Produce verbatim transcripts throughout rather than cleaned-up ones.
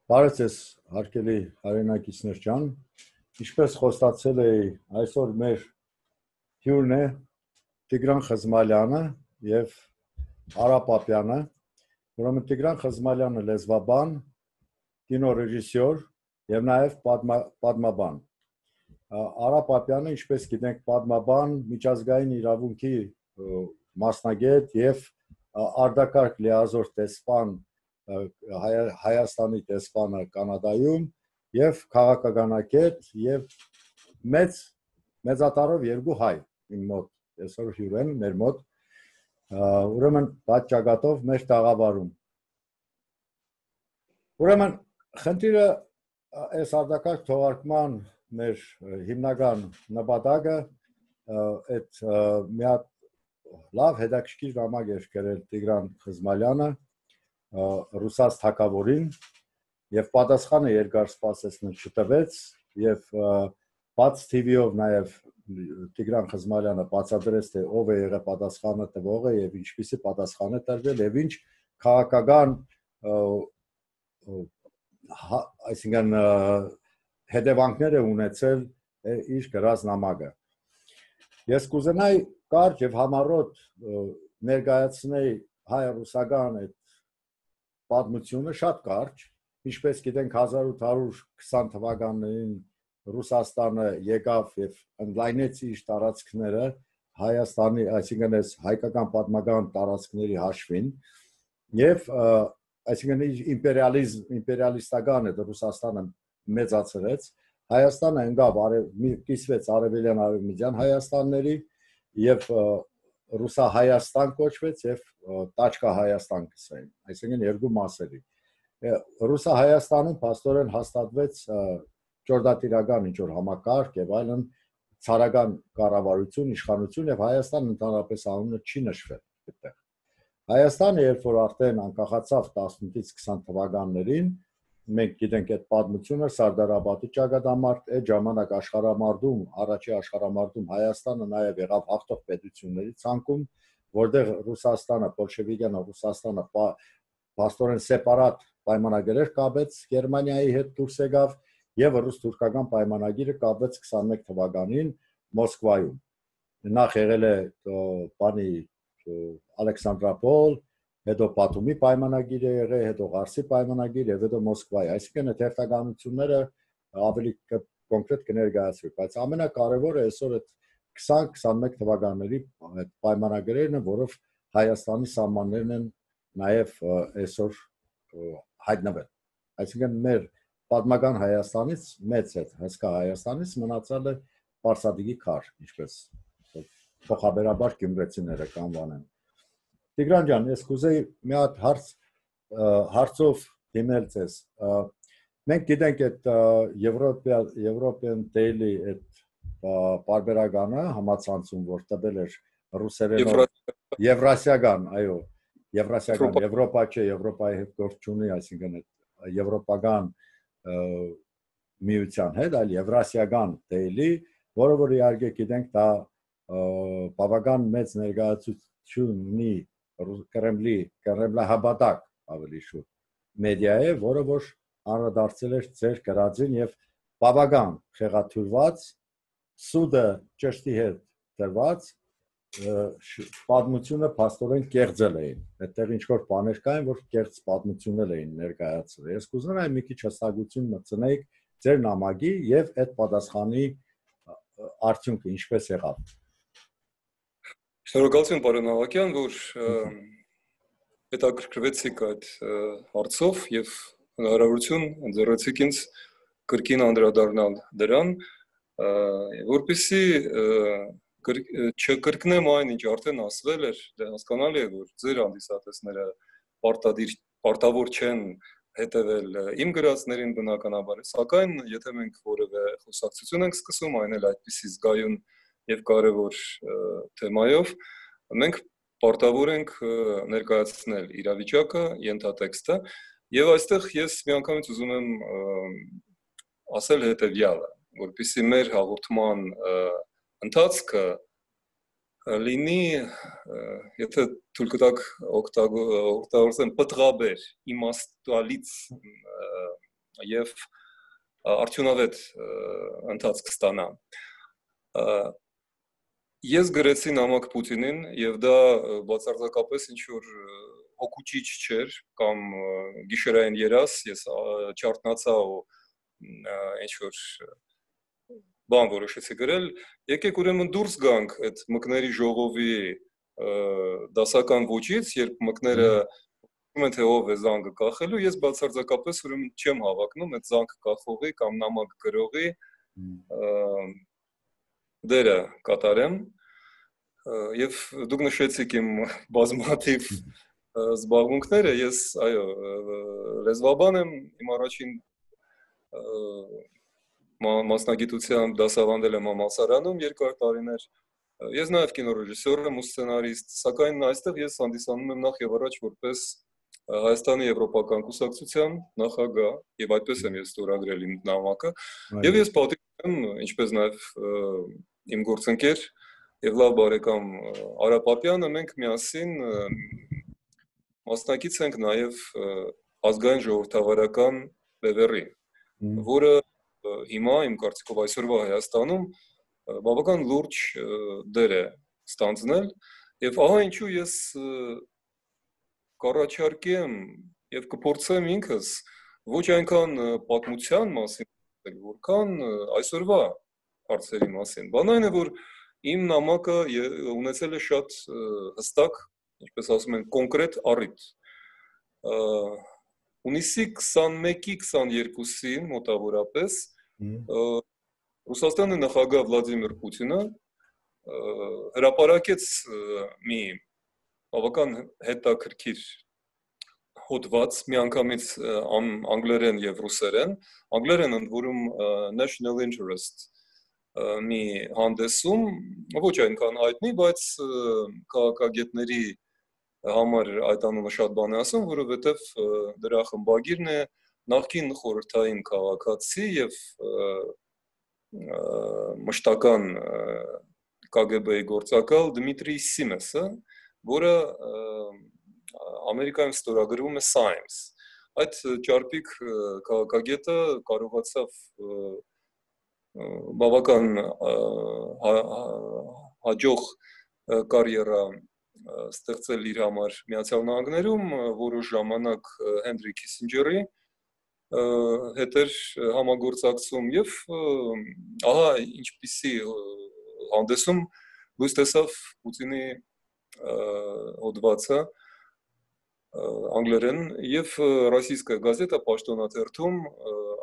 Բարև ձեզ, հարգելի հայրենակիցներ ջան, ինչպես խոստացել էի, այսօր մեր հյուրն է Տիգրան Խզմալյանը եւ Արա Պապյանը, ուրեմն Տիգրան Խզմալյանը լեզվաբան, կինոռեժիսոր եւ նաեւ պատմաբան։ Արա Պապյանը, ինչպես գիտենք, պատմաբան, միջազգային իրավունքի մասնագետ եւ արտակարգ լիազոր տեսփան Հայաստանի տեսփանը Կանադայում եւ քաղաքագանակետ եւ մեծ մեծատարով երկու հայ իմ մոտ այսօր հյուր են մեր մոտ ուրեմն պատճագատով մեր տաղավարում ուրեմն խնդիրը այս արտակարգ թողարկման մեր հիմնական նպատակը այդ մի հատ լավ հետաքրքիր ժամանակ էր գրել Տիգրան Խզմալյանը Ռուսաց թագավորին եւ պատասխանը երկար սպասեցնել չտվեց եւ բաց T V-ով նաեւ Տիգրան Խզմալյանը բացատրեց թե ով է եղել պատասխանը տվողը եւ ինչպիսի պատասխան է տրվել եւ ինչ քաղաքական այսինքն հետևանքներ է ունեցել իր գրած նամակը ես կուզենայի կարճ եւ համառոտ ներկայացնել հայ-ռուսական այդ պատմությունը շատ կարճ, ինչպես գիտենք հազար ութ հարյուր քսան թվականներին Ռուսաստանը եկավ եւ ընդլայնեց իր տարածքները Հայաստանի, այսինքն այս հայկական պատմական տարածքների հաշվին եւ այսինքն իր իմպերիալիզմ, իմպերիալիստական այդ Ռուսաստանը մեծացրեց, Հայաստանը ընկավ կիսվեց արևելյան արևմտյան Հայաստանների եւ Ռուսա-Հայաստան կոչվեց եւ Տաչկա-Հայաստան կսային, այսինքն երկու մասերի։ Ռուսա-Հայաստանում փաստորեն հաստատվեց ճորդատիրական ինչ-որ համակարգ եւ այլն ցարական կառավարություն, իշխանություն եւ Հայաստան ընդհանրապես անունը չի նշվել այդտեղ։ Հայաստանը երբ որ արդեն անկախացավ տասնութից քսան թվականներին, մենք գիտենք այդ պատմությունը Սարդարաբադի ճակատամարտ, այդ ժամանակ աշխարհամարտում, առաջի աշխարհամարտում Հայաստանը նաև եղավ հաղթող պետությունների ցանկում, որտեղ Ռուսաստանը, բոլշևիկյան Ռուսաստանը փաստորեն սեպարատ պայմանագրեր կապեց Գերմանիայի հետ դուրս եկավ եւ ռուս-թուրքական պայմանագիրը կապեց քսանմեկ թվականին Մոսկվայում։ Նախ եղել է բանի Ալեքսանդրապոլ հետո Պատումի պայմանագիր է եղել, հետո Ղարսի պայմանագիր եւ հետո Մոսկվայի, այսինքն այդ հերթականությունները ավելի կոնկրետ կներկայացվի, բայց ամենակարևորը այսօր այդ քսան քսանմեկ թվականների այդ պայմանագրերն են, որով Հայաստանի սահմաններն են նաեւ այսօր հայտնվել։ Այսինքն մեր պատմական Հայաստանից մեծ է, հսկա Հայաստանից մնացել է Պարսադիգի քար, ինչպես փոխաբերաբար գյումրեցիները կանվանեն։ Տիգրան ջան, ես կուզեի մի հատ հարց հարցով դիմել ձեզ։ Մենք գիտենք այդ Եվրոպա European Daily այդ պարբերականը համացանցում, որ տվել էր ռուսերենով Եվրասիական, այո, Եվրասիական, Եվրոպա չէ, Եվրոպայի հետ գործ չունի, այսինքն այդ եվրոպական միության հետ, այլ Եվրասիական Daily, որը որ իհարկե գիտենք դա բավական մեծ ներկայացություն ունի Կրեմլի, Կրեմլահաբադակ ավելի շուտ մեդիա է, որը որ անդրադարձել էր ձեր գրածին եւ բավական խեղաթյուրված սուդը ճշտի հետ դրված պատմությունը փաստորեն կեղծել էին։ Այդտեղ ինչ որ բաներ կային, որ կեղծ պատմություններ էին ներկայացրել։ Ես կուզենայի մի քիչ հստակություն մտցնեիք ձեր նամակի եւ այդ պատասխանի արդյունքը ինչպես եղավ։ Շնորհակալություն պարոն Ավակյան, որ հետաքրքրվեցիք այդ հարցով եւ հնարավորություն ընձեռեցիք ինձ կրկին անդրադառնալ դրան, որպեսզի չկրկնեմ այն, ինչ արդեն ասվել էր, դե հասկանալի է, որ ձեր հանդիսատեսները պարտադիր պարտավոր չեն հետևել իմ գրածներին բնականաբար, սակայն եթե մենք որևէ խոսակցություն ենք սկսում, այն էլ այդպիսի զգայուն եւ կարեւոր թեմայով, մենք պարտավոր ենք ներկայացնել իրավիճակը, ենթատեքստը, եւ այստեղ ես միանգամից ուզում եմ ասել հետեւյալը, որպեսզի մեր հաղորդման ընթացքը լինի, եթե թույլ կտաք օգտագործեմ պտղաբեր, իմաստալից եւ արդյունավետ ընթացք ստանա։ Ես գրեցի նամակ Պուտինին եւ դա բացարձակապես ինչ որ հոգուճիչ չէր կամ գիշերային երաս, ես չարտնացա ու ինչ որ բան որոշեցի գրել, եկեք ուրեմն դուրս գանք այդ մկների ժողովի դասական ոճից, երբ մկները ասում են թե ով է զանգը կախելու, ես բացարձակապես ուրեմն չեմ հավակնում այդ զանգ կախողի կամ նամակ գրողի դերը կատարեմ եւ դուք նշեցիք իմ բազմաթիվ զբաղմունքները, ես այո լեզվաբան եմ, իմ առաջին մասնագիտությամբ դասավանդել եմ համալսարանում երկար տարիներ, ես նաեւ կինոռեժիսոր եմ ու սցենարիստ, սակայն այստեղ ես հանդիսանում եմ նախ եւ առաջ որպես Հայաստանի Եվրոպական կուսակցության նախագահ եւ այդպես եմ ես ստորագրել իմ նամակը եւ ես պատիվ եմ ինչպես նաեւ իմ գործընկեր եւ լավ բարեկամ Արա Պապյանը մենք միասին մասնակից ենք նաեւ ազգային ժողովրդավարական բևեռի, որը հիմա իմ կարծիքով այսօրվա Հայաստանում բավական լուրջ դեր է ստանձնել եւ ահա ինչու ես կառաջարկեմ եւ կփորձեմ ինքս ոչ այնքան պատմության մասին, որքան այսօրվա հարցերի մասին։ Բան այն է, որ իմ նամակը ունեցել է շատ հստակ, ինչպես ասում են, կոնկրետ առիթ։ Հունիսի քսանմեկի քսաներկուսին մոտավորապես Ռուսաստանի նախագահ Վլադիմիր Պուտինը հրապարակեց մի բավական հետաքրքիր հոդված միանգամից անգլերեն եւ ռուսերեն, անգլերեն ընդ որում national interest մի հանդեսում, ոչ այնքան հայտնի, բայց քաղաքագետների համար այդ անունը շատ բան է ասում, որովհետեւ դրա խմբագիրն է նախկին խորհրդային քաղաքացի եւ մշտական Կ Գ Բ-ի գործակալ Դմիտրի Սիմեսը, որը Ամերիկայում ստորագրվում է Science։ Այդ ճարպիկ քաղաքագետը կարողացավ բավական հաջող կարիերա ստեղծել իր համար Միացյալ Նահանգներում, որոշ ժամանակ Հենրի Քիսինջերի հետ էր համագործակցում եւ ահա ինչպիսի հանդեսում լույս տեսավ Պուտինի հոդվածը անգլերեն եւ ռոսիյская գազետա պաշտոնաթերթում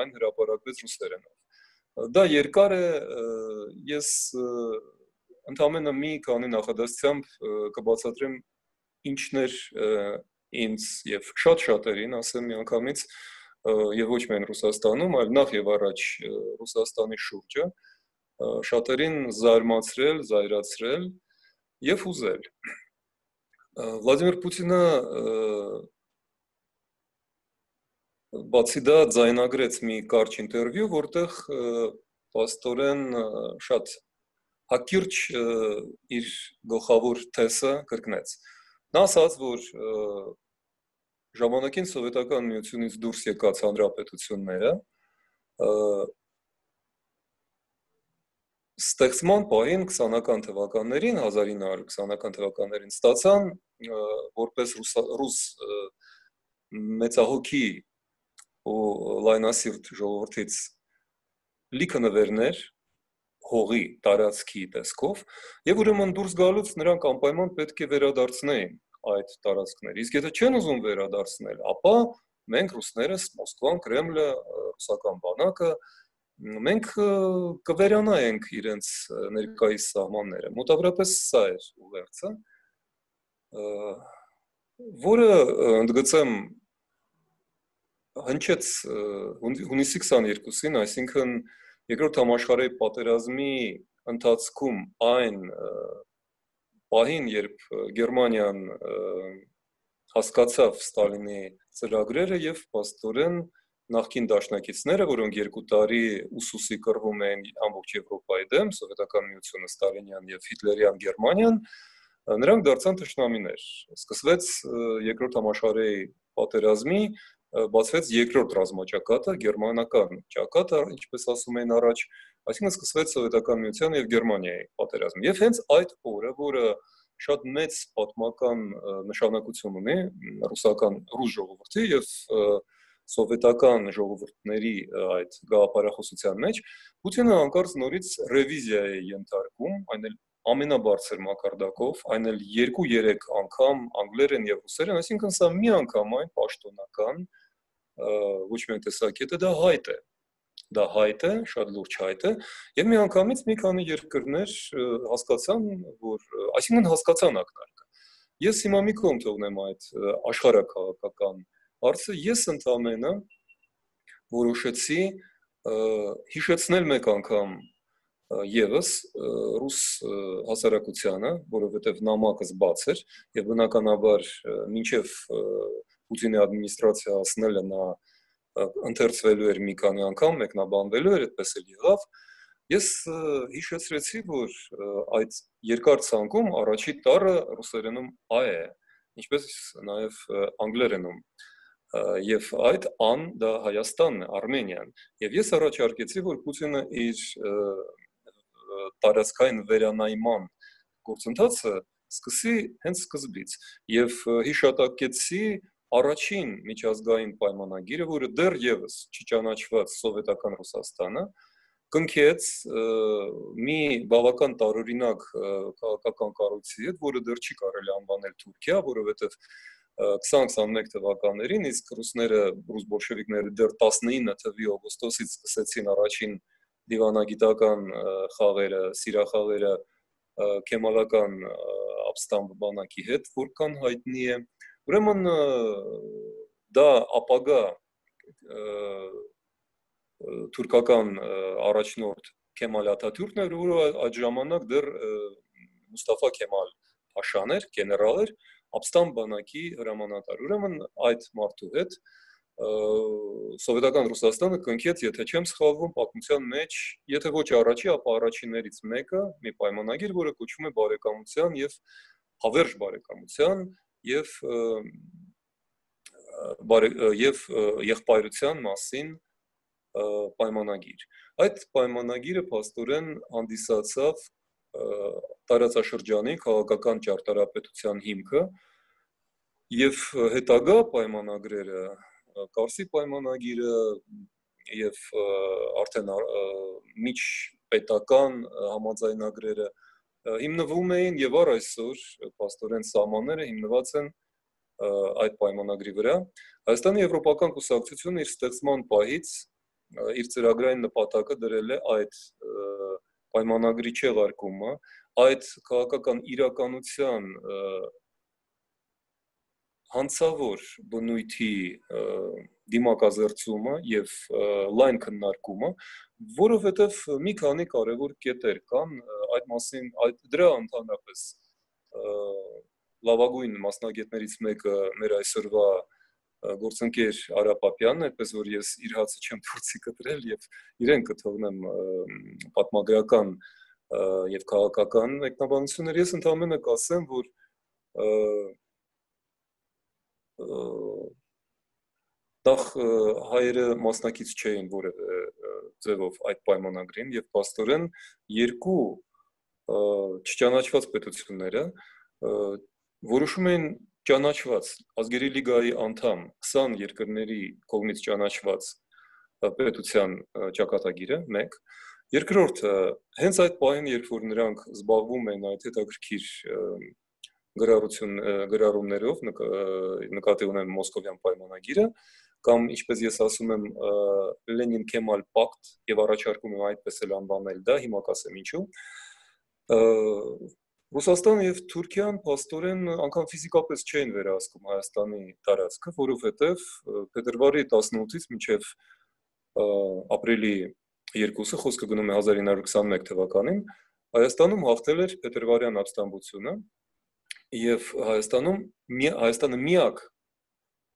այն հրապարակվեց ռուսերենով։ Դա երկար է, ես ընդամենը մի քանի նախադասությամբ կբացատրեմ ինչներ ինձ եւ շատ շատերին, ասեմ միանգամից, եւ ոչ միայն Ռուսաստանում, այլ նախ եւ առաջ Ռուսաստանի շուրջը շատերին զարմացրել, զայրացրել եւ հուզել։ Վլադիմիր Պուտինը բացի դա ձայնագրեց մի կարճ ինտերվյու, որտեղ պաստորեն շատ հակիրճ իր գլխավոր թեսը կրկնեց։ Նա ասաց, որ ժամանակին սովետական միությունից դուրս եկած հանրապետությունները ստեղծման պահին քսանական թվականներին, հազար ինը հարյուր քսանական թվականներին ստացան որպես ռուս մեծահոգի ու լայնասիրտ ժողովրդից լիքը նվերներ հողի տարածքի տեսքով եւ ուրեմն դուրս գալուց նրանք անպայման պետք է վերադարձնեին այդ տարածքները։ Իսկ եթե չեն ուզում վերադարձնել, ապա մենք ռուսներս, Մոսկվան, Կրեմլը, ռուսական բանակը մենք կվերանայենք իրենց ներկայիս սահմանները։ Մոտավորապես սա էր ուղերձը, որը ընդգծեմ հնչեց հունիսի քսաներկուսին, այսինքն երկրորդ համաշխարհային պատերազմի ընթացքում այն պահին, երբ Գերմանիան հասկացավ Ստալինի ծրագրերը եւ պաստորեն նախկին դաշնակիցները, որոնք երկու տարի ուսուսի կռվում էին ամբողջ Եվրոպայի դեմ, սովետական միությունը, Ստալինյան եւ հիտլերյան Գերմանիան, նրանք դարձան թշնամիներ։ Սկսվեց երկրորդ համաշխարհային պատերազմի բացվեց երկրորդ ռազմաճակատը, գերմանական ճակատը, ինչպես ասում էին առաջ, այսինքն սկսվեց Սովետական Միության եւ Գերմանիայի պատերազմը։ Եվ հենց այդ օրը, որը շատ մեծ պատմական նշանակություն ունի ռուսական ռուս ժողովրդի եւ սովետական ժողովուրդների այդ գաղափարախոսության մեջ, Պուտինը անկարծ նորից ռևիզիա է ենթարկում, այն էլ ամենաբարձր մակարդակով, այն էլ երկու-երեք անգամ անգլերեն եւ ռուսերեն, այսինքն սա մի անգամ այն պաշտոնական ոչ միայն տեսակետը, դա հայտ է։ Դա հայտ է, շատ լուրջ հայտ է, եւ մի անգամից մի քանի երկրներ հասկացան, որ այսինքն հասկացան ակնարկը։ Ես հիմա մի կողմ թողնեմ այդ աշխարհակաղակական հարցը, ես ընդամենը որոշեցի հիշեցնել մեկ անգամ Եվս ռուս հասարակությանը, որովհետև նամակս բաց էր եւ բնականաբար մինչեւ Պուտինի ադմինիստրացիա հասնելը նա ընթերցվելու էր մի քանի անգամ, մեկնաբանվելու էր, այդպես էլ եղավ։ Ես հիշեցրեցի, որ այդ երկար ցանկում առաջի տառը ռուսերենում «ա» է, ինչպես նաեւ անգլերենում։ Եվ այդ «ան» դա Հայաստանն է, Արմենիան։ Եվ ես առաջարկեցի, որ Պուտինը իր տարածքային վերանայման գործընթացը սկսի հենց սկզբից եւ հիշատակեցի առաջին միջազգային պայմանագիրը, որը դեռևս չճանաչված սովետական Ռուսաստանը կնքեց մի բավական տարօրինակ քաղաքական կառույցի հետ, որը դեռ չի կարելի անվանել Թուրքիա, որովհետեւ քսան-քսանմեկ թվականներին իսկ ռուսները, ռուս բոլշևիկները դեռ տասնինը թվականի օգոստոսից սկսեցին առաջին դիվանագիտական խաղերը, սիրախաղերը քեմալական ապստամբ բանակի հետ, որքան հայտնի է։ Ուրեմն դա ապագա թուրքական առաջնորդ Քեմալ Աթաթյուրքն էր, որը այդ ժամանակ դեռ Մուստաֆա Քեմալ Փաշան էր, գեներալ էր, ապստամբ բանակի հրամանատար։ Ուրեմն այդ մարդու հետ Սովետական Ռուսաստանը կնքեց, եթե չեմ սխալվում, պատմության մեջ, եթե ոչ առաջի, ապա առաջիններից մեկը, մի պայմանագիր, որը կոչվում է բարեկամության եւ հավերժ բարեկամության եւ եւ եղբայրության մասին պայմանագիր։ Այդ պայմանագիրը փաստորեն հանդիսացավ տարածաշրջանի քաղաքական ճարտարապետության հիմքը եւ հետագա պայմանագրերը Կարսի պայմանագիրը եւ արդեն միջպետական համաձայնագրերը հիմնվում էին եւ առ այսօր փաստորեն սահմանները հիմնված են այդ պայմանագրի վրա։ Հայաստանի Եվրոպական կուսակցությունը իր ստեղծման պահից իր ծրագրային նպատակը դրել է այդ պայմանագրի չեղարկումը, այդ քաղաքական իրականության հանցավոր բնույթի դիմակազերծումը եւ լայն քննարկումը, որովհետեւ մի քանի կարևոր կետեր կան այդ մասին, այդ դրա ընդհանրապես լավագույն մասնագետներից մեկը մեր այսօրվա գործընկեր Արա Պապյանն է, այդպես որ ես իր հացը չեմ փորձի կտրել եւ իրեն կթողնեմ պատմագրական եւ քաղաքական մեկնաբանություններ։ Ես ընդհանրապես կասեմ, որ Տախ հայերը մասնակից չէին որևէ ձևով այդ պայմանագրին եւ փաստորեն երկու չճանաչված պետությունները որոշում են ճանաչված ազգերի լիգայի անդամ քսան երկրների կողմից ճանաչված պետության ճակատագիրը մեկ, երկրորդը հենց այդ պահին, երբ որ նրանք զբաղվում են այդ հետաքրքիր գրառություն գրառումներով նկատի ունեմ Մոսկովյան պայմանագիրը կամ ինչպես ես ասում եմ Լենին-Քեմալ պակտ եւ առաջարկում եմ այդպես էլ անվանել դա, հիմա կասեմ ինչու։ Ռուսաստանը եւ Թուրքիան փաստորեն անգամ ֆիզիկապես չեն վերահսկում Հայաստանի տարածքը, որովհետեւ փետրվարի տասնութից մինչեւ ապրիլի երկուսը խոսքը գնում է հազար ինը հարյուր քսանմեկ թվականին Հայաստանում հաղթել էր փետրվարյան ապստամբությունը եւ Հայաստանում Հայաստանը միակ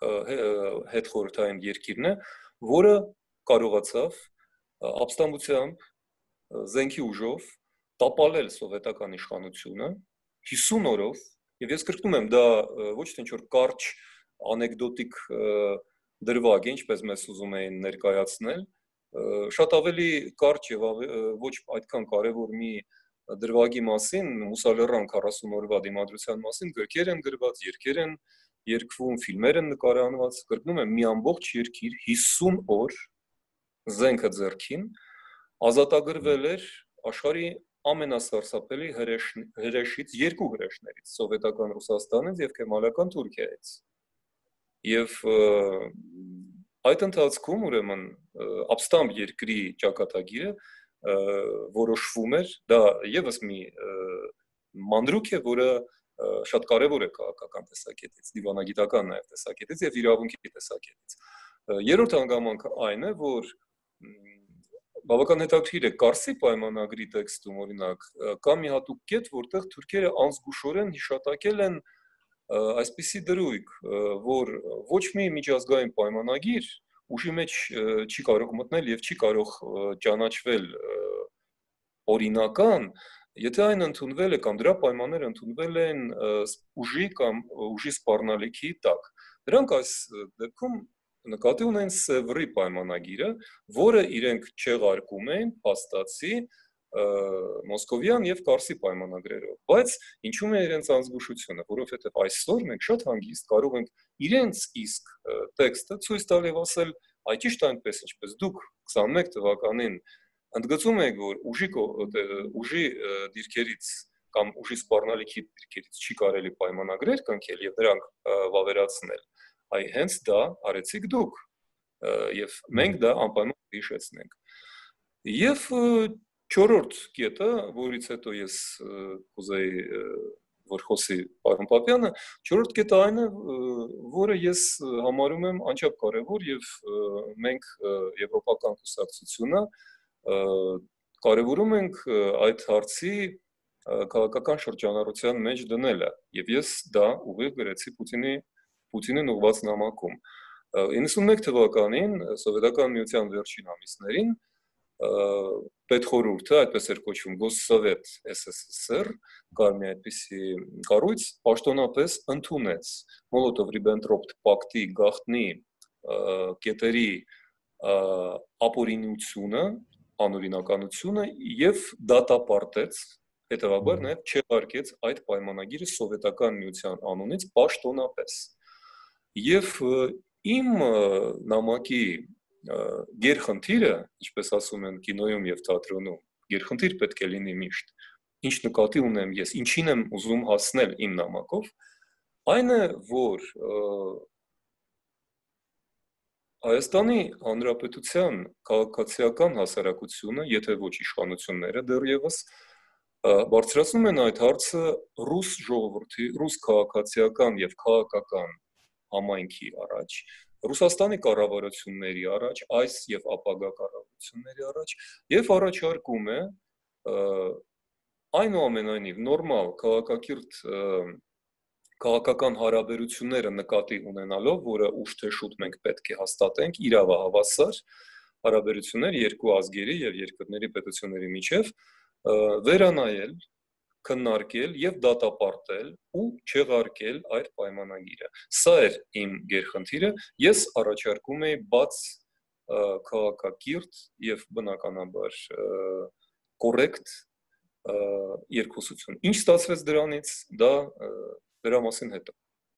հետխորհրդային երկիրն է, որը կարողացավ ապստամբությամբ զենքի ուժով տապալել սովետական իշխանությունը հիսուն օրով եւ ես կրկնում եմ դա ոչ թե ինչ որ կարճ անեկդոտիկ դրվագ է, ինչպես մեզ ուզում էին ներկայացնել, շատ ավելի կարճ եւ ոչ այդքան կարեւոր մի դրվագի մասին, Մուսալերան քառասուն օրվա դիմադրության մասին գրքեր են գրված, երգեր են երգվում, ֆիլմեր են նկարահանված, կրկնում եմ, մի ամբողջ երկիր հիսուն օր զենքը ձեռքին ազատագրվել էր աշխարհի ամենասարսափելի հրեշից երկու հրեշներից, սովետական Ռուսաստանից եւ քեմալական Թուրքիայից։ Եվ այդ ընթացքում ուրեմն ապստամբ երկրի ճակատագիրը որոշվում էր, դա եւս մի մանրուք է, որը շատ կարևոր է քաղաքական տեսակետից, դիվանագիտական նաեւ տեսակետից եւ իրավունքի տեսակետից։ Երրորդ հանգամանքը այն է, որ բավական հետաքրքիր է Կարսի պայմանագրի տեքստում, օրինակ, կա մի հատուկ կետ, որտեղ թուրքերը անզգուշորեն հիշատակել են այսպիսի դրույթ, որ ոչ մի միջազգային պայմանագիր ուժի մեջ չի կարող մտնել եւ չի կարող ճանաչվել օրինական, եթե այն ընդունվել է կամ դրա պայմանները ընդունվել են ուժի կամ ուժի սպառնալիքի տակ։ Դրանք այս դեպքում նկատի ունեն Սևրի պայմանագիրը, որը իրենք չեղարկում են փաստացի Մոսկովյան եւ Կարսի պայմանագրերով, բայց ինչու՞ է իրենց անզգուշությունը, որովհետեւ այսօր մենք շատ հանգիստ կարող ենք իրենց իսկ տեքստը ցույց տալ եւ ասել, այ ճիշտ այնպես, ինչպես դուք քսանմեկ թվականին ընդգծում եք, որ ուժի ուժի դիրքերից կամ ուժի սպառնալիքի դիրքերից չի կարելի պայմանագրեր կնքել եւ դրանք վավերացնել, այ հենց դա արեցիք դուք եւ մենք դա անպայման հիշեցնենք։ Եվ չորրորդ կետը, որից հետո ես կուզեի որ խոսի պարոն Պապյանը, չորրորդ կետը այն է, որը ես համարում եմ անչափ կարևոր եւ մենք եվրոպական կուսակցությունը կարևորում ենք այդ հարցի քաղաքական շրջանառության մեջ դնելը եւ ես դա ուղիղ գրեցի Պուտինի Պուտինին ուղղված նամակում։ իննսունմեկ թվականին սովետական միության վերջին ամիսներին պետխորհուրդը, այդպես էր կոչվում Գոսսովետ Էս Էս Էս Էր, կար մի այդպիսի կառույց, պաշտոնապես ընդունեց Մոլոտով-Ռիբենտրոպ պակտի գաղտնի կետերի ապօրինությունը, անօրինականությունը եւ դատապարտեց, հետեւաբար նաեւ չեղարկեց այդ պայմանագիրը սովետական միության անունից պաշտոնապես։ Եվ իմ նամակի գերխնդիրը, ինչպես ասում են կինոյում եւ թատրոնում, գերխնդիր պետք է լինի միշտ, ինչ նկատի ունեմ ես, ինչին եմ ուզում հասնել իմ նամակով, այն է, որ Հայաստանի Հանրապետության քաղաքացիական հասարակությունը, եթե ոչ իշխանությունները դեռևս, բարձրացնում են այդ հարցը ռուս ժողովրդի, ռուս քաղաքացիական եւ քաղաքական համայնքի առաջ, Ռուսաստանի կառավարությունների առաջ, այս եւ ապագա կառավարությունների առաջ եւ առաջարկում է այնուամենայնիվ նորմալ քաղաքակիրթ քաղաքական հարաբերությունները նկատի ունենալով, որը ուշ թե շուտ մենք պետք է հաստատենք, իրավահավասար հարաբերություններ երկու ազգերի եւ երկրների պետությունների միջեւ վերանայել, քննարկել եւ դատապարտել ու չեղարկել այդ պայմանագիրը։ Սա էր իմ գերխնդիրը, ես առաջարկում էի բաց քաղաքակիրթ եւ բնականաբար կոռեկտ երկխոսություն։ Ինչ ստացվեց դրանից, դա դրա մասին հետո։